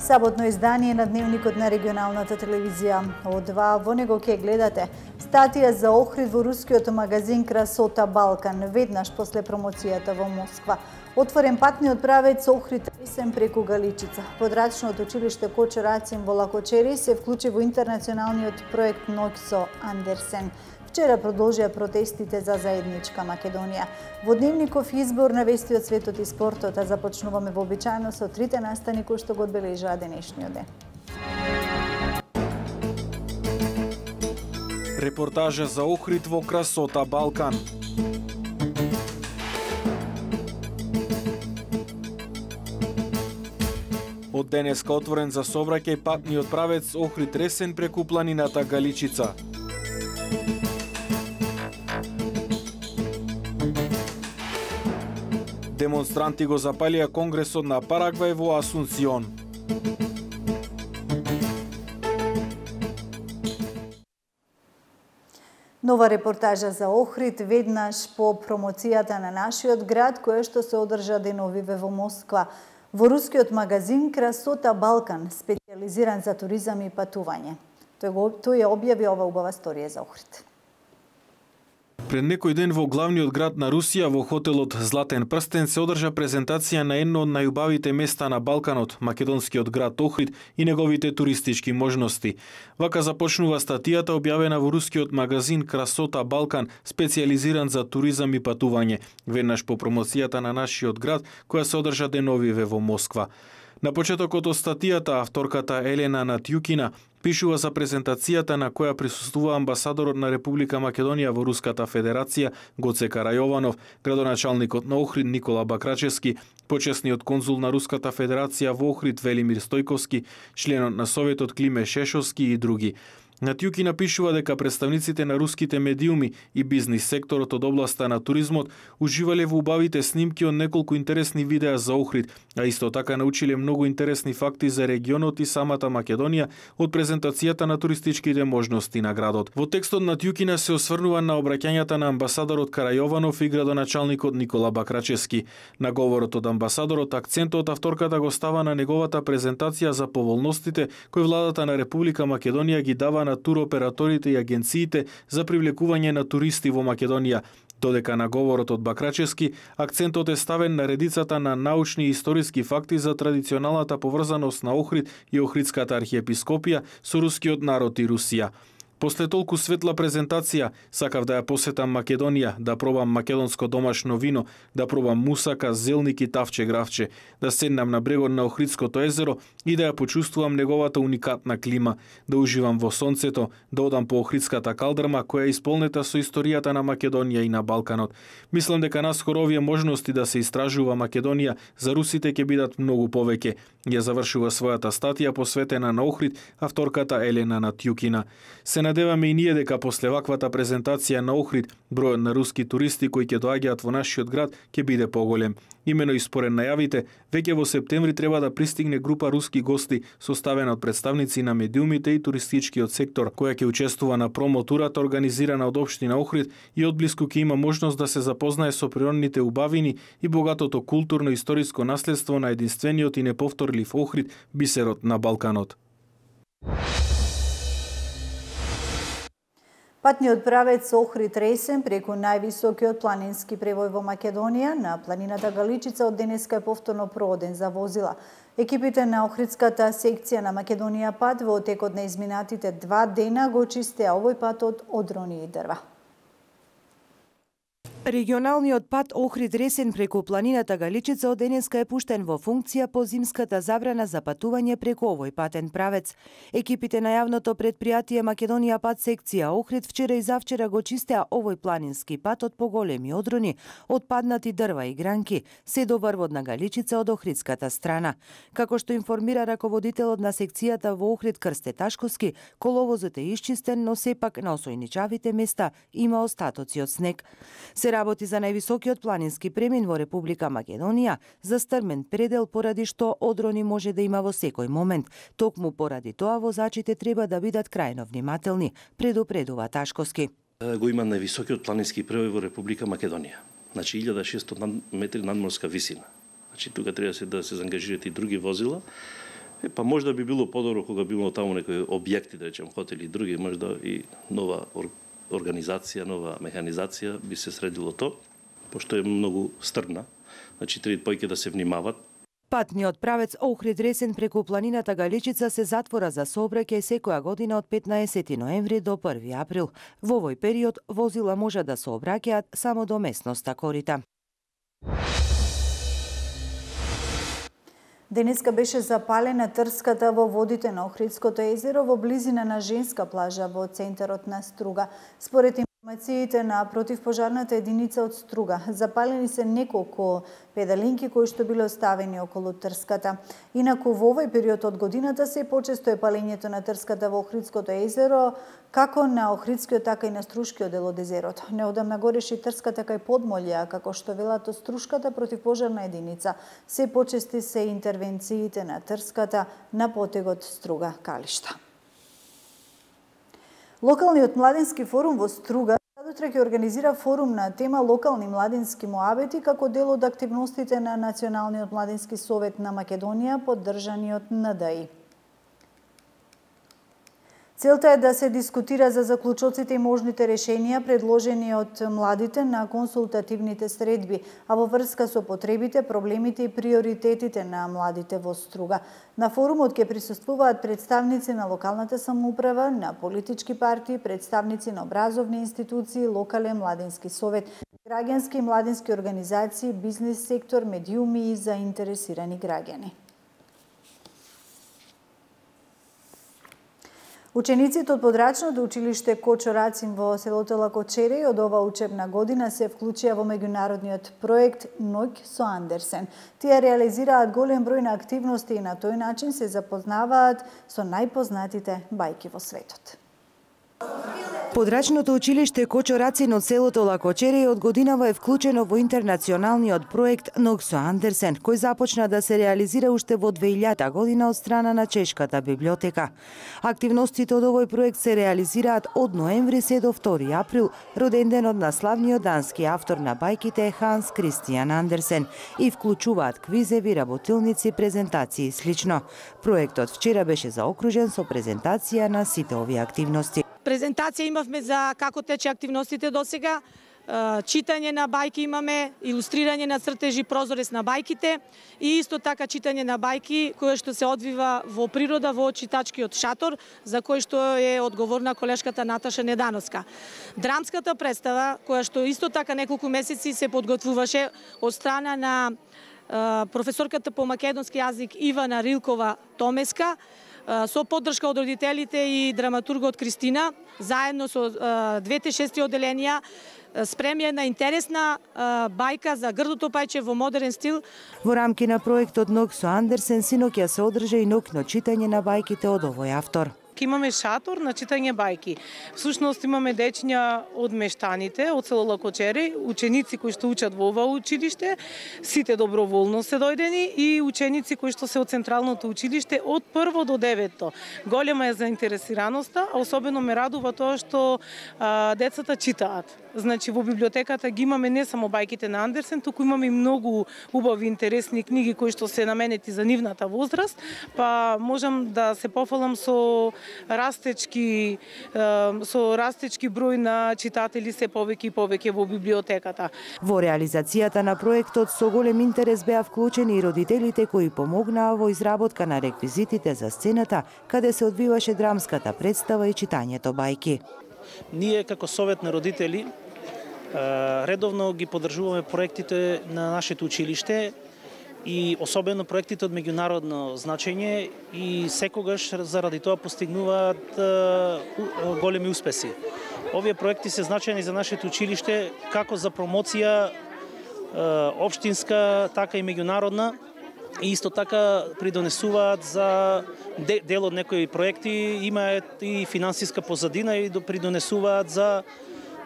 Саботно издание на Дневникот на регионалната телевизија. Од во него ќе гледате статија за Охрид во рускиот магазин Красота Балкан, веднаш после промоцијата во Москва. Отворен патниот правец Охрид Ресен преку Галичица. Подрачното училиште Кочо Рацин во Лакочери се вклучи во интернационалниот проект Ноќ со Андерсен. Вчера продолжија протестите за заедничка Македонија. Во Дневников избор на вести од светот и спортот, а започнуваме вообичаено со трите настани кои што го одбележаа денешниот ден. Репортажа за Охрид во Красота Балкан. Од денеска отворен за сообраќај патниот правец Охрид Ресен преку планината Галичица. Демонстранти го запалија Конгресот на Парагвај во Асунсион. Нова репортажа за Охрид веднаш по промоцијата на нашиот град, која што се одржа деновиве во Москва. Во рускиот магазин Красота Балкан, специализиран за туризам и патување. Тој ја објави ова убава сторија за Охрид. Пред некој ден во главниот град на Русија, во хотелот Златен прстен, се одржа презентација на едно од најубавите места на Балканот, македонскиот град Охрид и неговите туристички можности. Вака започнува статијата објавена во рускиот магазин Красота Балкан, специализиран за туризам и патување, веднаш по промоцијата на нашиот град, која се одржа деновиве во Москва. На почетокот од статијата, авторката Елена Натјукина пишува за презентацијата на која присуствува амбасадорот на Република Македонија во Руската Федерација Гоце Карајованов, градоначалникот на Охрид Никола Бакрачевски, почесниот конзул на Руската Федерација во Охрид Велимир Стојковски, членот на Советот Климе Шешовски и други. Натјуки напишува дека представниците на руските медиуми и бизнис секторот од областа на туризмот уживале во убавите снимки од неколку интересни видеа за Охрид, а исто така научиле многу интересни факти за регионот и самата Македонија од презентацијата на туристичките можности на градот. Во текстот Натјукина се осврнува на обраќањата на амбасадорот Карајованов и градоначалникот Никола Бакрачевски. На говорот од амбасадорот акцентот авторката го става на неговата презентација за поволностите кои владата на Република Македонија ги дава на туроператорите и агенциите за привлекување на туристи во Македонија, додека на говорот од Бакрачевски акцентот е ставен на редицата на научни и историски факти за традиционалната поврзаност на Охрид и Охридската архиепископија со рускиот народ и Русија. После толку светла презентација, сакав да ја посетам Македонија, да пробам македонско домашно вино, да пробам мусака, зелник и тавче гравче, да седнам на брегот на Охридското езеро и да ја почувствувам неговата уникатна клима, да уживам во сонцето, да одам по Охридската калдрма која е исполнета со историјата на Македонија и на Балканот. Мислам дека наскоро овие можности да се истражува Македонија за русите ќе бидат многу повеќе. Ја завршува својата статија посветена на Охрид авторката Елена Натјукина. Се надеваме и ние дека после ваквата презентација на Охрид, бројот на руски туристи кои ќе доаѓаат во нашиот град ќе биде поголем. Имено и според најавите, веќе во септември треба да пристигне група руски гости составена од представници на медиумите и туристичкиот сектор, која ќе учествува на промотурата организирана од општина Охрид и одблиску ќе има можност да се запознае со природните убавини и богатото културно-историско наследство на единствениот и неповторлив Охрид, бисерот на Балканот. Патниот правец Охрид Ресен преку највисокиот планински превој во Македонија на планината Галичица од денеска е повторно проводен за возила. Екипите на Охридската секција на Македонија пат во текот на изминатите 2 дена го чистеа овој пат од одрони и дрва. Регионалниот пат Охрид Ресен преку планината Галичица од денеска е пуштен во функција по зимската забрана за патување преку овој патен правец. Екипите на јавното предпријатие Македонија пат секција Охрид вчера и завчера го чистеа овој планински пат од поголеми одрони, од паднати дрва и гранки, се до врвот на Галичица од охридската страна. Како што информира раководителот на секцијата во Охрид Крсте Ташковски, коловозот е исчистен, но сепак на осојничавите места има остатоци од снег. Се работи за највисокиот планински премин во Република Македонија, за стрмен предел поради што одрони може да има во секој момент. Токму поради тоа возачите треба да бидат крајно внимателни, предупредува Ташковски. Го има највисокиот планински превој во Република Македонија. Значи 1600 метри надморска висина. Значи тука треба да се заангажираат и други возила Па можда би било подобро кога би имало таму некои објекти, да речем, хотели и други, можда и нова организација, нова механизација би се средило то, пошто е многу стрмна. Значи, треба повеќе да се внимават. Патниот правец Охрид-Ресен преку планината Галичица се затвора за сообраќај секоја година од 15 ноември до 1 април. Во овој период возила може да сообраќаат само до местноста Корита. Денеска беше запалена трската во водите на Охридското езеро во близина на женска плажа во центарот на Струга. Според информациите на противпожарната единица од Струга, запалени се неколку педалинки кои што биле оставени околу трската. Инаку во овој период од годината се почесто е палењето на трската во Охридското езеро, како на Охридскиот, така и на Струшкиот дел од езерото. Неодамна гореше и трската кај Подмолја, како што велат од Струшката противпожарна единица. Се почести се интервенциите на трската на потегот Струга-Калишта. Локалниот младински форум во Струга утре ќе организира форум на тема локални младински муабети како дел од активностите на Националниот младински совет на Македонија, поддржани од НДИ. Целта е да се дискутира за заклучоците и можните решенија предложени од младите на консултативните средби, а во врска со потребите, проблемите и приоритетите на младите во Струга. На форумот ќе присуствуваат представници на локалната самоуправа, на политички партии, представници на образовни институции, локален младински совет, граѓански и младински организации, бизнис сектор, медиуми и заинтересирани граѓани. Учениците од подрачното училиште Кочо Рацин во селото Лакочери од ова учебна година се вклучија во меѓународниот проект Ноќ со Андерсен. Тие реализираат голем број на активности и на тој начин се запознаваат со најпознатите бајки во светот. Подрачното училиште Кочо Рацин од селото Лакочери од годинава е вклучено во интернационалниот проект Ноќ со Андерсен, кој започна да се реализира уште во 2000 година од страна на Чешката библиотека. Активностите од овој проект се реализираат од ноември се до 2 април, роден денот на славниот дански автор на бајките Ханс Кристијан Андерсен, и вклучуваат квизеви, работилници, презентации и слично. Проектот вчера беше заокружен со презентација на сите овие активности. Презентација имавме за како тече активностите досега, читање на бајки имаме, илустрирање на цртежи, прозорец на бајките и исто така читање на бајки кое што се одвива во природа во читачкиот шатор, за кој што е одговорна колешката Наташа Недановска. Драмската представа, која што исто така неколку месеци се подготвуваше од страна на професорката по македонски јазик Ивана Рилкова Томеска, со поддршка од родителите и драматургот Кристина, заедно со двете шести оделенија, спремија една интересна бајка за грдото пајче во модерен стил. Во рамки на проектот Ноќ со Андерсен синоќа се одржа и ноќно читање на бајките од овој автор. Имаме шатор на читање бајки. Всушност имаме дечиња од мештаните, од село Лакочери, ученици кои што учат во ова училиште, сите доброволно се дојдени, и ученици кои што се од Централното училиште од 1 до 9. Голема е заинтересираноста, а особено ме радува тоа што децата читаат. Значи во библиотеката ги имаме не само бајките на Андерсен, туку имаме и многу убави интересни книги кои што се наменети за нивната возраст, па можам да се пофалам со растечки број на читатели се повеќе и повеќе во библиотеката. Во реализацијата на проектот со голем интерес беа вклучени и родителите кои помогнаа во изработка на реквизитите за сцената каде се одвиваше драмската представа и читањето бајки. Ние како совет на родители редовно ги поддржуваме проектите на нашето училиште и особено проектите од меѓународно значење, и секогаш заради тоа постигнуваат големи успеси. Овие проекти се значајни за нашето училиште како за промоција општинска, така и меѓународна, и исто така придонесуваат за дел од некои проекти, имаат и финансиска позадина и придонесуваат за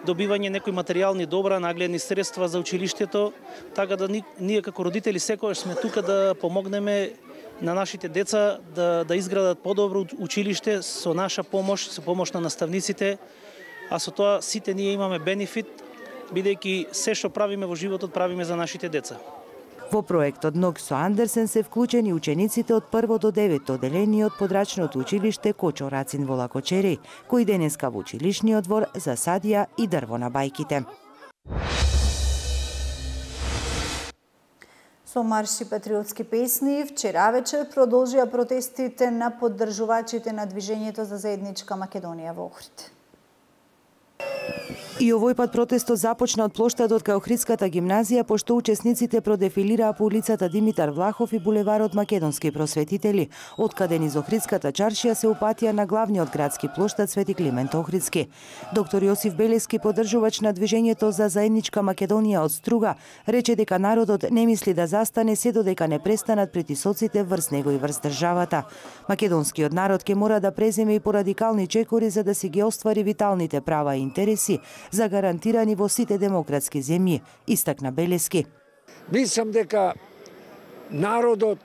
добивање некои материјални добра, нагледни средства за училиштето, така да ние како родители секогаш сме тука да помогнеме на нашите деца да изградат подобро училиште со наша помош, со помош на наставниците, а со тоа сите ние имаме бенефит, бидејќи се што правиме во животот правиме за нашите деца. Во проектот Ног со Андерсен се вклучени учениците од 1 до 9 одделение од подрачното училиште Кочо Рацин во Лакочери, кои денеска во училишниот двор засадија и дрво на бајките. Со марши патриотски песни, вчера вечер продолжија протестите на поддржувачите на движењето за заедничка Македонија во Охрид. И овој пат протестот започна од плоштадот кај Охридската гимназија, пошто учесниците продефилираа по улицата Димитар Влахов и булеварот Македонски просветители, откаде низ Охридската чаршија се упатија на главниот градски плоштад Свети Климент Охридски. Доктор Јосиф Белески, поддржувач на движењето за заедничка Македонија од Струга, рече дека народот не мисли да застане се додека не престанат притисоците врз него и врз државата. Македонскиот народ ќе мора да преземе и порадикални чекори за да си ги оствари виталните права и интереси, загарантирани во сите демократски земји, истакна Белески. Мислам дека народот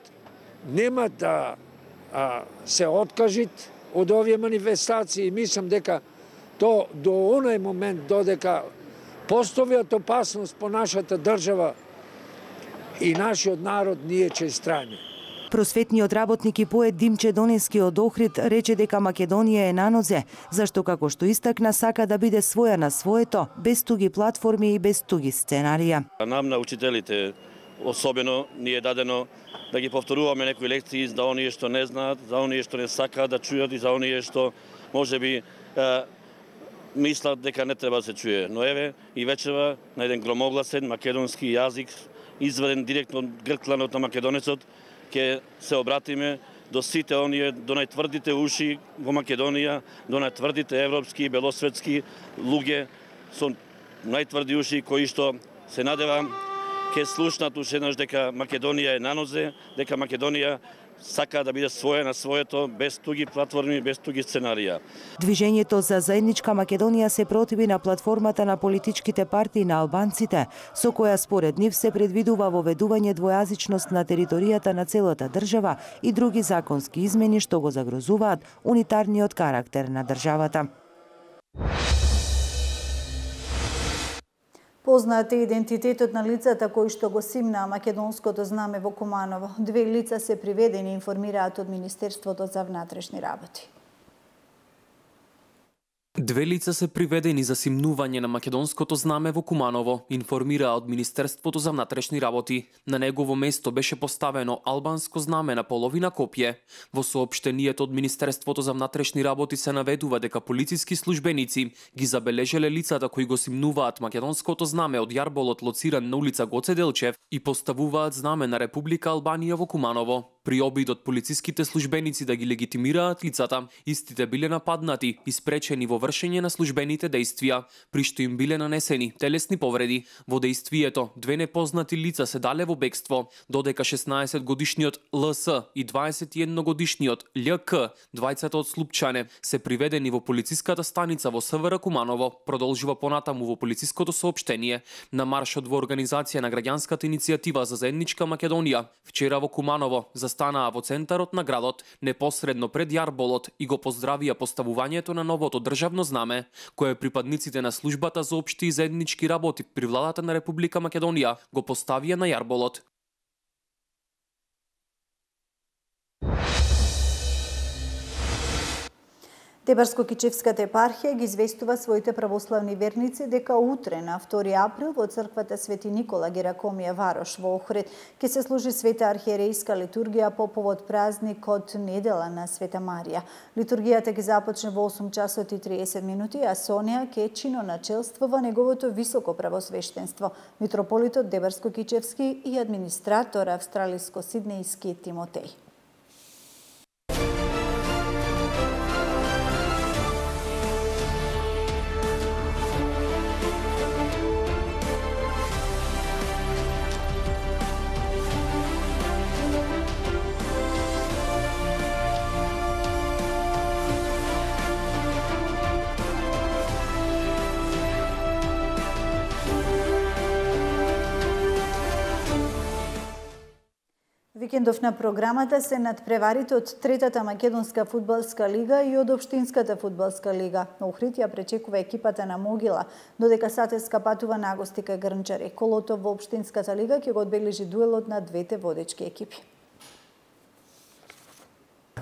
нема да се откажит од овие манифестации. Мислам дека то до оној момент додека постојат опасност по нашата држава и нашиот народ, ние ќе стране. Просветниот работник и поет Димче Донески од Охрид рече дека Македонија е на нозе, зашто како што истакна сака да биде своја на своето, без туги платформи и без туги сценарија. Нам на учителите особено ни е дадено да ги повторуваме некои лекции за оние што не знаат, за оние што не сакаат да чујат и за оние што можеби мислат дека не треба да се чуе. Но еве и вечерва на еден громогласен македонски јазик, изваден директно од гркланот на македонецот, ќе се обратиме до сите оние, до најтврдите уши во Македонија, до најтврдите европски и белосветски луѓе со најтврди уши кои што се надевам ќе слушнат уште еднаш дека Македонија е на нозе, дека Македонија сака да биде своја на своето, без туги платформи, без туги сценарија. Движењето за заедничка Македонија се противи на платформата на политичките партии на албанците, со која според нив се предвидува воведување двојазичност на територијата на целата држава и други законски измени што го загрозуваат унитарниот карактер на државата. Познат е идентитетот на лицата кои што го симнаа македонското знаме во Куманово. 2 лица се приведени, информираат од Министерството за внатрешни работи. 2 лица се приведени за симнување на македонското знаме во Куманово, информира од Министерството за внатрешни работи. На негово место беше поставено албанско знаме на половина копје. Во соопштението од Министерството за внатрешни работи се наведува дека полициски службеници ги забележале лицата кои го симнуваат македонското знаме од јарболот лоциран на улица Гоце Делчев и поставуваат знаме на Република Албанија во Куманово. При обидот полициските службеници да ги легитимираат лицата, истите биле нападнати и спречени во вршење на службените дејствија, при што им биле нанесени телесни повреди. Во дејствието 2 непознати лица се дале во бегство, додека 16-годишниот ЛС и 21-годишниот ЛК, двајцата од Слупчане, се приведени во полициската станица во СВР Куманово, продолжува понатаму во полициското соопштение. На маршот во организација на граѓанската иницијатива за заедничка Македонија, вчера во Куманово застанаа во центарот на градот, непосредно пред јарболот и го поздравија поставувањето на новото државно знаме, кое припадниците на службата за општи и заеднички работи при владата на Република Македонија го поставија на јарболот. Тебарско-Кичевската епархија ги известува своите православни верници дека утре на 2 април во црквата Свети Никола Геракомија Варош во Охрид ќе се служи света архиерейска литургија по повод празникот Недела на Света Марија. Литургијата ќе започне во 8 часот и 30 минути, а со неа ќе чиноначелствува неговото високо правосвештенство, митрополитот Тебарско-Кичевски и администратор австралиско-сиднејски Тимотеј. викендов на програмата се надпреварите од третата македонска фудбалска лига и од општинската фудбалска лига. Охрид ја пречекува екипата на Могила, додека Сатеска патува на гости кај Грнчари. Колото во општинската лига ќе го одбележи дуелот на двете водечки екипи.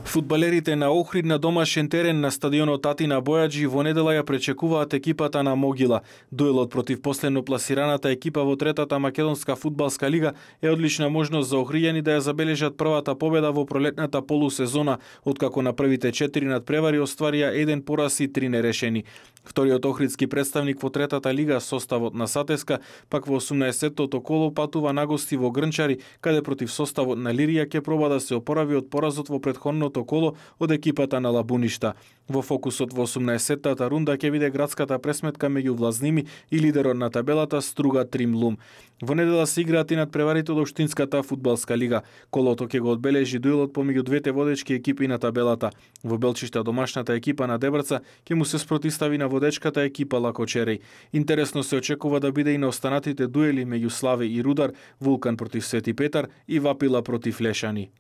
Фудбалерите на Охрид на домашен терен на стадионот Атина Бојаджи во недела ја пречекуваат екипата на Могила. Дуелот против последно пласираната екипа во третата македонска фудбалска лига е одлична можност за охријани да ја забележат првата победа во пролетната полусезона, откако на првите 4 надпревари остварија 1 пораз и 3 нерешени. Вториот охридски представник во третата лига, составот на Сатеска, пак во 18-тото коло патува на гости во Грнчари, каде против составот на Лирија ќе проба да се опорави од поразот во претходното коло од екипата на Лабуништа. Во фокусот во 18-тата рунда ќе биде градската пресметка меѓу Влазними и лидерот на табелата Струга Тримлум. Во недела се играат и надпреварите од општинската фудбалска лига. Колото ќе го одбележи дуелот помеѓу двете водечки екипи на табелата. Во Белчишта домашната екипа на Дебрца ќе му се спротистави на водечката екипа Лакочерей. Интересно се очекува да биде и на останатите дуели меѓу Славе и Рудар, Вулкан против Свети Петар и Вапила против Лешани.